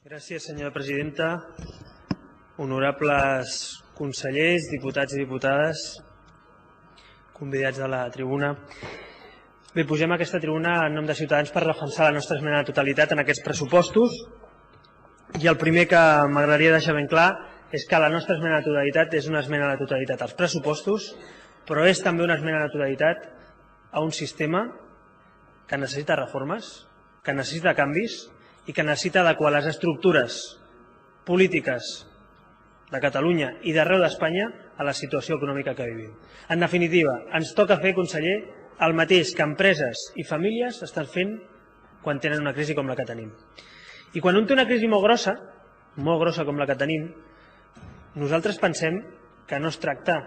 Gràcies, senyora presidenta. Honorables consellers, diputats i diputades, convidats a la tribuna. Bé, pugem a aquesta tribuna en nom de Ciutadans per defensar la nostra esmena a la totalitat en aquests pressupostos. I el primer que m'agradaria deixar ben clar és que la nostra esmena a la totalitat és una esmena a la totalitat als pressupostos, però és també una esmena a la totalitat a un sistema que necessita reformes, que necessita canvis i que necessita adequar les estructures polítiques de Catalunya i d'arreu d'Espanya a la situació econòmica que vivim. En definitiva, ens toca fer, conseller, el mateix que empreses i famílies estan fent quan tenen una crisi com la que tenim. I quan un té una crisi molt grossa com la que tenim, nosaltres pensem que no es tracta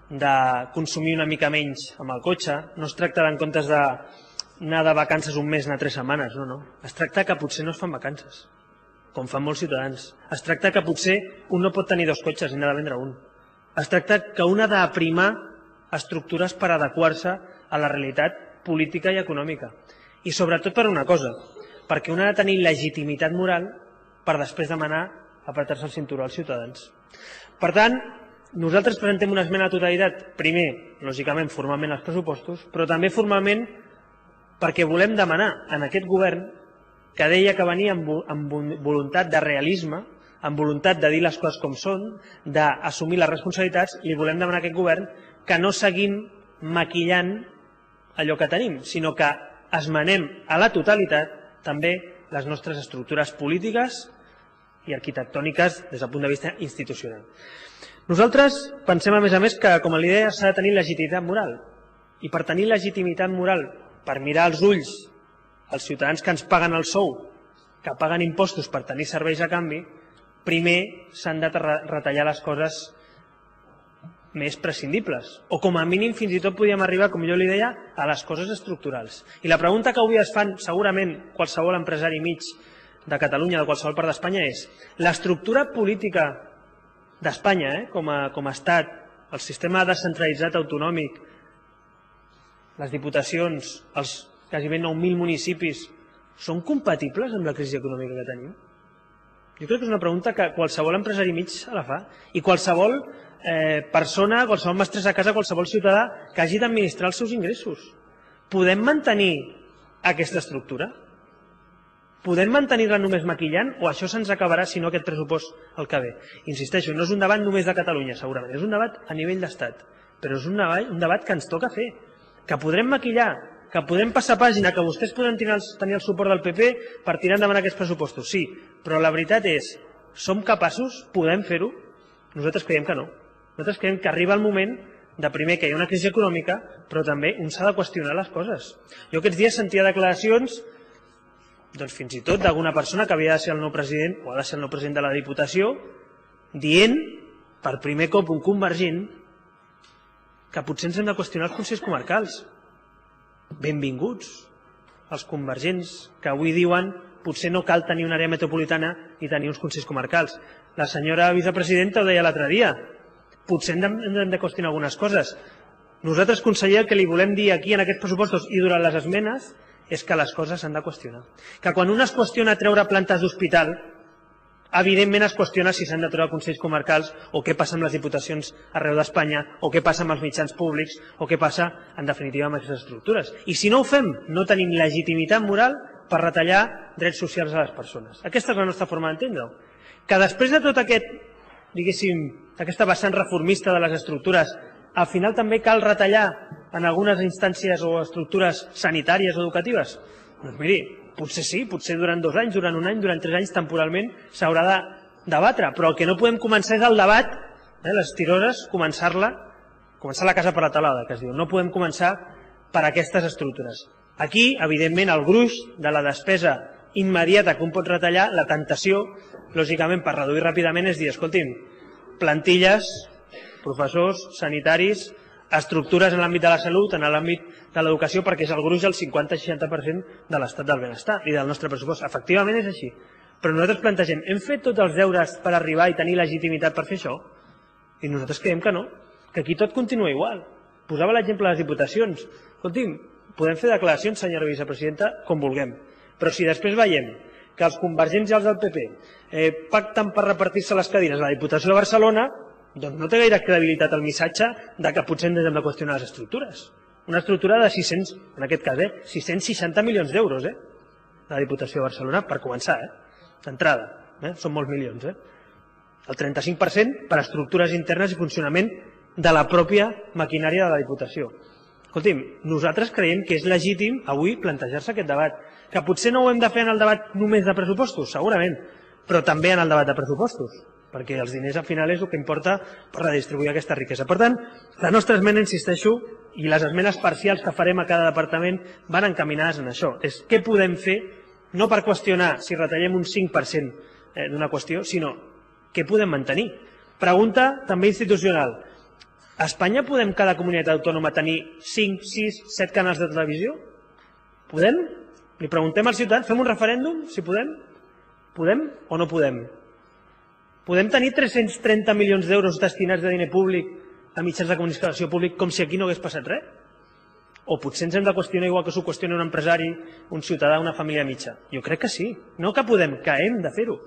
de consumir una mica menys amb el cotxe, no es tracta en comptes d'anar de vacances un mes, anar 3 setmanes, no. Es tracta que potser no es fan vacances, com fan molts ciutadans. Es tracta que potser un no pot tenir 2 cotxes i n'ha de vendre un. Es tracta que un ha d'aprimar estructures per adequar-se a la realitat política i econòmica. I sobretot per una cosa, perquè un ha de tenir legitimitat moral per després demanar apretar-se el cinturó als ciutadans. Per tant, nosaltres presentem una esmena a la totalitat, primer, lògicament, formalment als pressupostos, però també formalment perquè volem demanar a aquest govern, que deia que venia amb voluntat de realisme, amb voluntat de dir les coses com són, d'assumir les responsabilitats, li volem demanar a aquest govern que no seguim maquillant allò que tenim, sinó que esmenem a la totalitat també les nostres estructures polítiques i arquitectòniques des del punt de vista institucional. Nosaltres pensem, a més, que, com li deia, s'ha de tenir legitimitat moral. I per tenir legitimitat moral, per mirar als ulls els ciutadans que ens paguen el sou, que paguen impostos per tenir serveis a canvi, primer s'han de retallar les coses més prescindibles. O com a mínim fins i tot podíem arribar, com jo li deia, a les coses estructurals. I la pregunta que avui es fan segurament qualsevol empresari mig de Catalunya, de qualsevol part d'Espanya, és l'estructura política d'Espanya com a estat, el sistema descentralitzat autonòmic, les diputacions, els gairebé 9.000 municipis, són compatibles amb la crisi econòmica que tenim? Jo crec que és una pregunta que qualsevol empresari mig se la fa. I qualsevol persona, qualsevol mestressa a casa, qualsevol ciutadà que hagi d'administrar els seus ingressos. Podem mantenir aquesta estructura? Podem mantenir-la només maquillant o això se'ns acabarà si no aquest pressupost el que ve? Insisteixo, no és un debat només de Catalunya, segurament. És un debat a nivell d'estat. Però és un debat que ens toca fer. Que podrem maquillar, que podem passar pàgina, que vostès poden tenir el suport del PP per tirar endavant aquests pressupostos. Sí, però la veritat és, som capaços? Podem fer-ho? Nosaltres creiem que no. Nosaltres creiem que arriba el moment de primer que hi ha una crisi econòmica, però també un s'ha de qüestionar les coses. Jo aquests dies sentia declaracions, doncs fins i tot d'alguna persona que havia de ser el nou president o ha de ser el nou president de la Diputació, dient, per primer cop un convergent, que potser ens hem de qüestionar els consells comarcals. Benvinguts els convergents que avui diuen potser no cal tenir una àrea metropolitana ni tenir uns consells comarcals. La senyora vicepresidenta ho deia l'altre dia. Potser hem de qüestionar algunes coses. Nosaltres, conseller, el que li volem dir aquí en aquests pressupostos i durant les esmenes és que les coses s'han de qüestionar. Que quan un es qüestiona treure plantes d'hospital, evidentment es qüestiona si s'han de treure consells comarcals o què passa amb les diputacions arreu d'Espanya o què passa amb els mitjans públics o què passa, en definitiva, amb aquestes estructures. I si no ho fem, no tenim legitimitat moral per retallar drets socials a les persones. Aquesta és la nostra forma d'entendre-ho. Que després de tot aquest, diguéssim, aquesta vessant reformista de les estructures, al final també cal retallar en algunes instàncies o estructures sanitàries o educatives? Doncs miri, potser sí, potser durant 2 anys, durant 1 any, durant 3 anys, temporalment, s'haurà de debatre. Però el que no podem començar és el debat, les tirores, començar la casa per la talada, que es diu. No podem començar per aquestes estructures. Aquí, evidentment, el gruix de la despesa immediata que un pot retallar, la tentació, lògicament, per reduir ràpidament, és dir, escolti'm, plantilles, professors, sanitaris, estructures en l'àmbit de la salut, en l'àmbit de l'educació, perquè és el gruix del 50-60% de l'estat del benestar i del nostre pressupost. Efectivament és així. Però nosaltres plantegem, hem fet tots els deures per arribar i tenir legitimitat per fer això? I nosaltres creiem que no, que aquí tot continua igual. Posava l'exemple de les diputacions. Escolti'm, podem fer declaracions, senyora vicepresidenta, com vulguem. Però si després veiem que els convergents i els del PP pacten per repartir-se les cadires a la Diputació de Barcelona, doncs no té gaire credibilitat el missatge de que potser ens hem de qüestionar les estructures. Una estructura de 600, en aquest cas, 660 milions d'euros, de la Diputació de Barcelona, per començar, d'entrada. Són molts milions. El 35% per a estructures internes i funcionament de la pròpia maquinària de la Diputació. Escolti'm, nosaltres creiem que és legítim avui plantejar-se aquest debat, que potser no ho hem de fer en el debat només de pressupostos, segurament, però també en el debat de pressupostos, perquè els diners al final és el que importa per redistribuir aquesta riquesa. Per tant, la nostra esmena, insisteixo, i les esmenes parcials que farem a cada departament van encaminades en això. És què podem fer, no per qüestionar si retallem un 5% d'una qüestió, sinó què podem mantenir. Pregunta també institucional. A Espanya podem cada comunitat autònoma tenir 5, 6, 7 canals de televisió? Podem? Li preguntem als ciutadans, fem un referèndum, si podem? Podem o no podem? Podem tenir 330 milions d'euros destinats de diner públic a mitjans de comunicació públic com si aquí no hagués passat res? O potser ens hem de qüestionar igual que s'ho qüestiona un empresari, un ciutadà, una família mitja? Jo crec que sí. No que podem, que hem de fer-ho.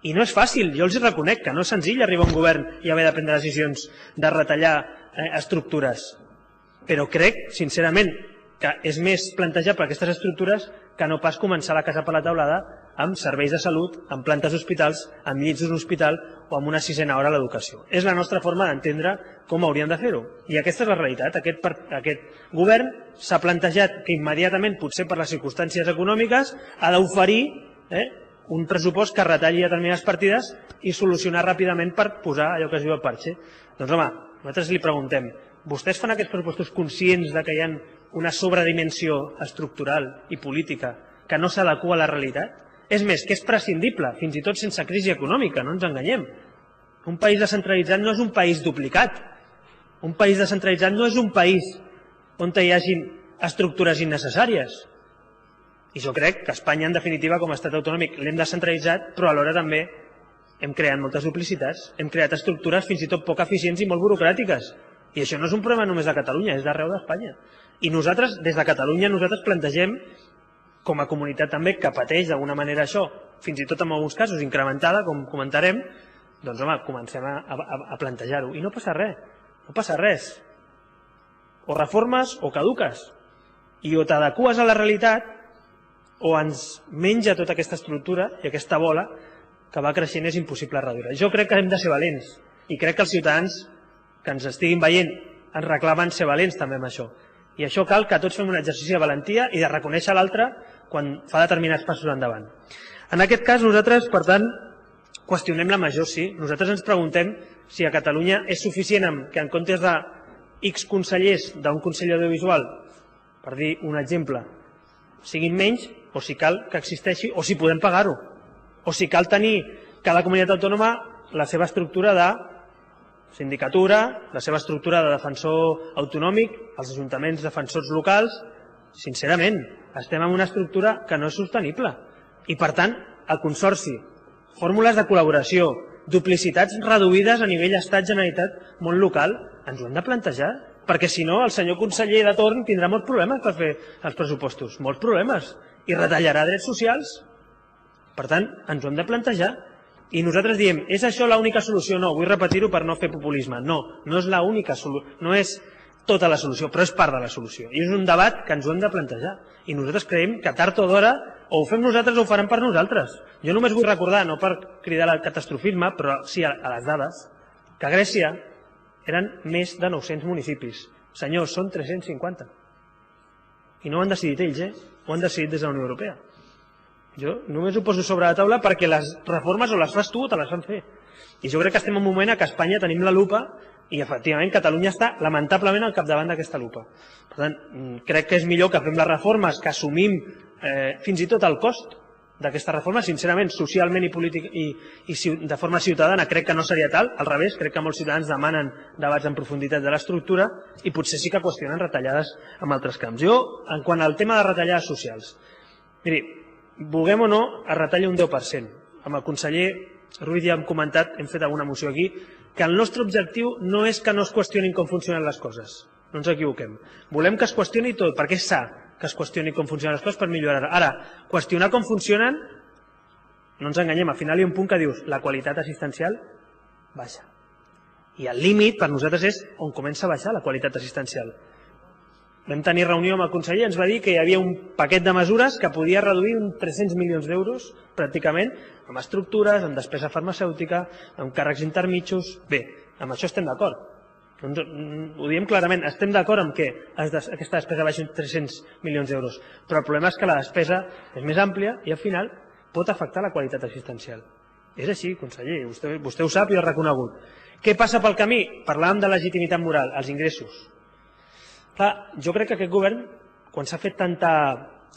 I no és fàcil, jo els reconec que no és senzill arribar a un govern i haver de prendre decisions de retallar estructures. Però crec, sincerament, que és més plantejar per aquestes estructures que no pas començar la casa per la teulada amb serveis de salut, amb plantes d'hospitals, amb llits d'un hospital o amb una sisena hora a l'educació. És la nostra forma d'entendre com hauríem de fer-ho. I aquesta és la realitat. Aquest govern s'ha plantejat que immediatament, potser per les circumstàncies econòmiques, ha d'oferir un pressupost que retalli determinades partides i solucionar ràpidament per posar allò que es diu el parxe. Doncs home, nosaltres li preguntem, vostès fan aquests pressupostos conscients que hi ha una sobredimensió estructural i política que no s'adequa a la realitat? És més, que és prescindible, fins i tot sense crisi econòmica, no ens enganyem. Un país descentralitzat no és un país duplicat. Un país descentralitzat no és un país on hi hagi estructures innecessàries. I jo crec que Espanya, en definitiva, com a estat autonòmic, l'hem descentralitzat, però alhora també hem creat moltes duplicitats, hem creat estructures fins i tot poc eficients i molt burocràtiques. I això no és un problema només de Catalunya, és d'arreu d'Espanya. I nosaltres, des de Catalunya, plantegem, com a comunitat també, que pateix d'alguna manera això, fins i tot en alguns casos incrementada, com comentarem, doncs home, comencem a plantejar-ho. I no passa res, no passa res. O reformes o caduques. I o t'adeques a la realitat o ens menja tota aquesta estructura i aquesta bola que va creixent és impossible reduir. Jo crec que hem de ser valents i crec que els ciutadans que ens estiguin veient ens reclamen ser valents també amb això. I això cal que tots fem un exercici de valentia i de reconèixer l'altre quan fa determinats passos endavant. En aquest cas nosaltres, per tant, qüestionem la major, sí. Nosaltres ens preguntem si a Catalunya és suficient que en comptes de X consellers d'un Consell Audiovisual, per dir un exemple, siguin menys, o si cal que existeixi, o si podem pagar-ho, o si cal tenir cada comunitat autònoma la seva estructura de sindicatura, la seva estructura de defensor autonòmic, els ajuntaments defensors locals. Sincerament, estem en una estructura que no és sostenible. I, per tant, el consorci, fórmules de col·laboració, duplicitats reduïdes a nivell estat, generalitat, món local, ens ho hem de plantejar, perquè si no el senyor conseller de torn tindrà molts problemes per fer els pressupostos, molts problemes, i retallarà drets socials. Per tant, ens ho hem de plantejar. I nosaltres diem, és això l'única solució? No, vull repetir-ho per no fer populisme. No, no és l'única solució, no és tota la solució, però és part de la solució. I és un debat que ens ho hem de plantejar. I nosaltres creiem que tard o d'hora o ho fem nosaltres o ho faran per nosaltres. Jo només vull recordar, no per cridar al catastrofisme, però sí a les dades, que a Grècia eren més de 900 municipis. Senyors, són 350. I no ho han decidit ells, ho han decidit des de la Unió Europea. Jo només ho poso sobre la taula perquè les reformes o les fas tu o te les fan fer. I jo crec que estem en un moment en què a Espanya tenim la lupa i efectivament Catalunya està lamentablement al capdavant d'aquesta lupa. Per tant, crec que és millor que fem les reformes, que assumim fins i tot el cost d'aquesta reforma, sincerament, socialment i de forma ciutadana crec que no seria tal, al revés, crec que molts ciutadans demanen debats en profunditat de l'estructura i potser sí que qüestionen retallades en altres camps. Jo, en quant al tema de retallades socials, miri, vulguem o no, es retalla un 10%. Amb el conseller Ruiz ja hem comentat, hem fet alguna moció aquí, que el nostre objectiu no és que no es qüestionin com funcionen les coses. No ens equivoquem. Volem que es qüestioni tot, perquè és sa que es qüestioni com funcionen les coses per millorar. Ara, qüestionar com funcionen, no ens enganyem, al final hi ha un punt que dius la qualitat assistencial baixa. I el límit per nosaltres és on comença a baixar la qualitat assistencial. Vam tenir reunió amb el conseller, ens va dir que hi havia un paquet de mesures que podia reduir uns 300 milions d'euros, pràcticament, amb estructures, amb despesa farmacèutica, amb càrrecs intermitjos. Bé, amb això estem d'acord. Ho diem clarament, estem d'acord amb que aquesta despesa baixi uns 300 milions d'euros, però el problema és que la despesa és més àmplia i al final pot afectar la qualitat assistencial. És així, conseller, vostè ho sap i ho ha reconegut. Què passa pel camí? Parlàvem de legitimitat moral, els ingressos. Clar, jo crec que aquest govern, quan s'ha fet tanta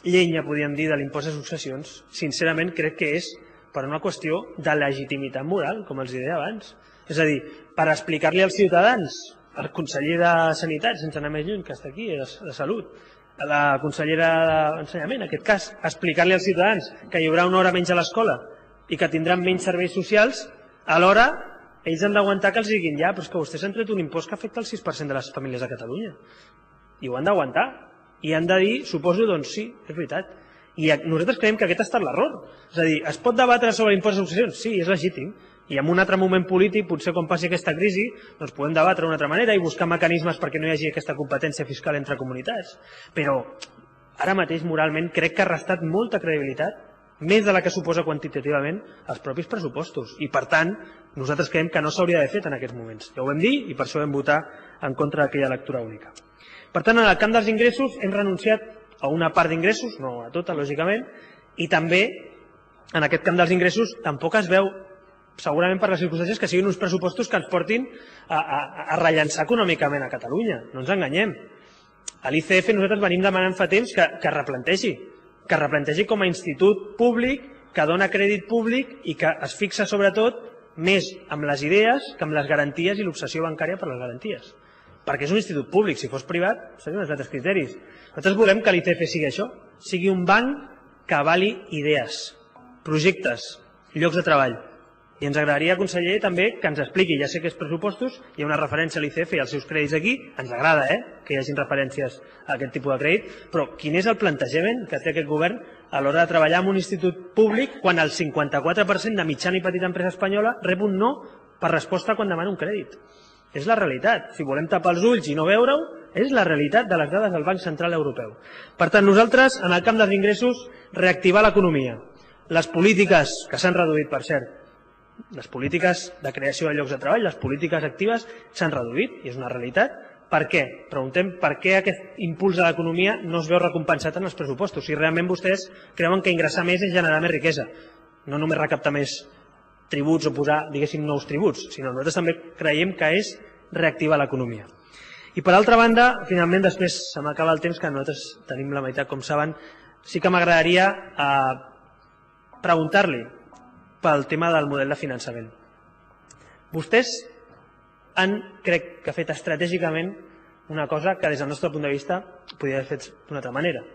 llenya, podríem dir, de l'impost de successions, sincerament crec que és per una qüestió de legitimitat moral, com els deia abans. És a dir, per explicar-li als ciutadans, al conseller de Sanitat, sense anar més lluny, que està aquí, de Salut, a la consellera d'Ensenyament, en aquest cas, explicar-li als ciutadans que hi haurà una hora menys a l'escola i que tindran menys serveis socials, alhora ells han d'aguantar que els diguin ja, però és que vostès han tret un impost que afecta el 6% de les famílies de Catalunya. I ho han d'aguantar. I han de dir, suposo, doncs sí, és veritat. I nosaltres creiem que aquest ha estat l'error. És a dir, es pot debatre sobre l'impost de successions? Sí, és legítim. I en un altre moment polític, potser quan passi aquesta crisi, doncs podem debatre d'una altra manera i buscar mecanismes perquè no hi hagi aquesta competència fiscal entre comunitats. Però ara mateix, moralment, crec que ha restat molta credibilitat, més de la que suposa quantitativament els propis pressupostos. I, per tant, nosaltres creiem que no s'hauria d'haver fet en aquests moments. Ja ho vam dir i per això vam votar en contra d'aquella lectura única. Per tant, en el camp dels ingressos hem renunciat a una part d'ingressos, no a tota, lògicament, i també en aquest camp dels ingressos tampoc es veu, segurament per les circumstàncies, que siguin uns pressupostos que ens portin a rellançar econòmicament a Catalunya. No ens enganyem. A l'ICF nosaltres venim demanant fa temps que replantegi com a institut públic, que dona crèdit públic i que es fixa sobretot més amb les idees que amb les garanties i l'obsessió bancària per les garanties. Perquè és un institut públic, si fos privat, serien uns altres criteris. Nosaltres volem que l'ICF sigui això, sigui un banc que avali idees, projectes, llocs de treball. I ens agradaria, conseller, també que ens expliqui, ja sé que és pressupostos, hi ha una referència a l'ICF i als seus crèdits aquí, ens agrada que hi hagin referències a aquest tipus de crèdit, però quin és el plantejament que té aquest govern a l'hora de treballar en un institut públic quan el 54% de mitjana i petita empresa espanyola rep un no per resposta quan demana un crèdit? És la realitat. Si volem tapar els ulls i no veure-ho, és la realitat de les dades del Banc Central Europeu. Per tant, nosaltres, en el camp dels ingressos, reactivar l'economia. Les polítiques, que s'han reduït, per cert, les polítiques de creació de llocs de treball, les polítiques actives, s'han reduït, i és una realitat. Per què? Preguntem per què aquest impuls de l'economia no es veu recompensat en els pressupostos. Si realment vostès creuen que ingressar més és generar més riquesa, no només recaptar més tributs o posar, diguéssim, nous tributs, sinó nosaltres també creiem que és reactivar l'economia. I per altra banda, finalment, després se m'acaba el temps, que nosaltres tenim la meitat, com saben, sí que m'agradaria preguntar-li pel tema del model de finançament. Vostès han, crec que, fet estratègicament una cosa que des del nostre punt de vista podria haver fet d'una altra manera,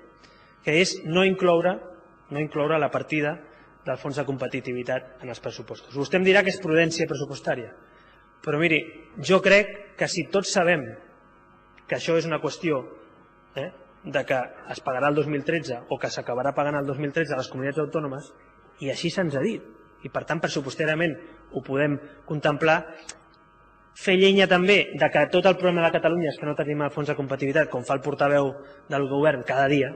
que és no incloure la partida del fons de competitivitat en els pressupostos. Vostè em dirà que és prudència pressupostària, però miri, jo crec que si tots sabem que això és una qüestió de que es pagarà el 2013 o que s'acabarà pagant el 2013 a les comunitats autònomes, i així se'ns ha dit, i per tant pressupostàriament ho podem contemplar, fer llenya també de que tot el problema de Catalunya és que no tenim el fons de competitivitat, com fa el portaveu del govern cada dia,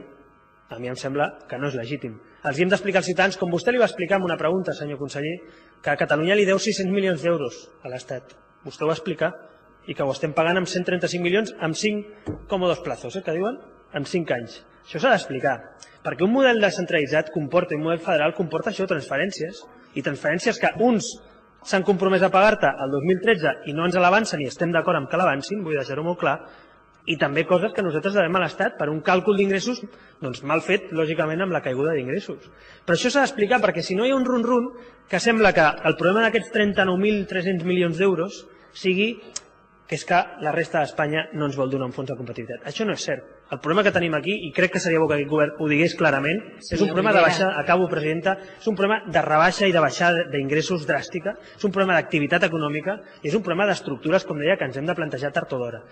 a mi em sembla que no és legítim. Els hem d'explicar als ciutadans, com vostè li va explicar en una pregunta, senyor conseller, que a Catalunya li deu 600 milions d'euros a l'Estat. Vostè ho va explicar, i que ho estem pagant amb 135 milions amb 5 còmodos plazos, que diuen, en 5 anys. Això s'ha d'explicar, perquè un model descentralitzat comporta, un model federal comporta això, transferències, i transferències que uns s'han compromès a pagar-te el 2013 i no ens l'avancen i estem d'acord amb que l'avancin, vull deixar-ho molt clar, i també coses que nosaltres devem a l'Estat per un càlcul d'ingressos mal fet, lògicament, amb la caiguda d'ingressos. Però això s'ha d'explicar perquè si no hi ha un run-run que sembla que el problema d'aquests 39.300 milions d'euros sigui que és que la resta d'Espanya no ens vol donar un fons de competitivitat. Això no és cert. El problema que tenim aquí, i crec que seria bo que aquest govern ho digués clarament, és un problema de baixa, acabo, presidenta, és un problema de rebaixa i de baixada d'ingressos dràstica, és un problema d'activitat econòmica i és un problema d'estructures, com deia, que ens hem de plantejar tard o d'hora.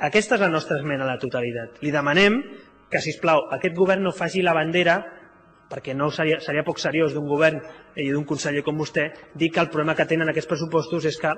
Aquesta és la nostra esmena a la totalitat. Li demanem que, sisplau, aquest govern no faci la bandera, perquè no seria poc seriós d'un govern i d'un conseller com vostè, dir que el problema que tenen aquests pressupostos és que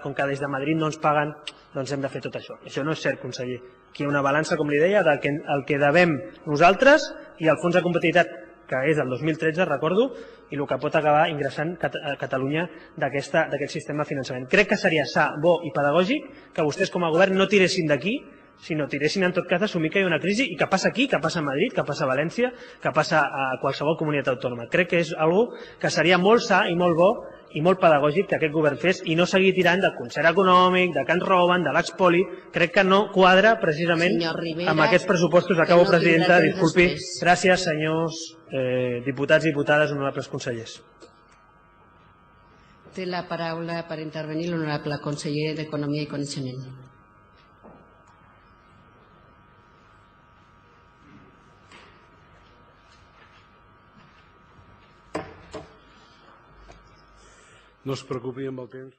com que des de Madrid no ens paguen, doncs hem de fer tot això. Això no és cert, conseller. Aquí hi ha una balança, com li deia, del que devem nosaltres i el fons de competitivitat, que és del 2013, recordo, i el que pot acabar ingressant a Catalunya d'aquest sistema de finançament. Crec que seria sa, bo i pedagògic que vostès com a govern no tiressin d'aquí, sinó tiressin en tot cas d'assumir que hi ha una crisi i que passa aquí, que passa a Madrid, que passa a València, que passa a qualsevol comunitat autònoma. Crec que és una cosa que seria molt sa i molt bo i molt pedagògic que aquest govern fes i no seguir tirant del concert econòmic, de que ens roben, de l'expoli. Crec que no quadra precisament amb aquests pressupostos. Acabo, presidenta, disculpi. Gràcies, senyors diputats i diputades, honorables consellers. Té la paraula per intervenir l'honorable conseller d'Economia i Coneixement. No es preocupi amb el temps.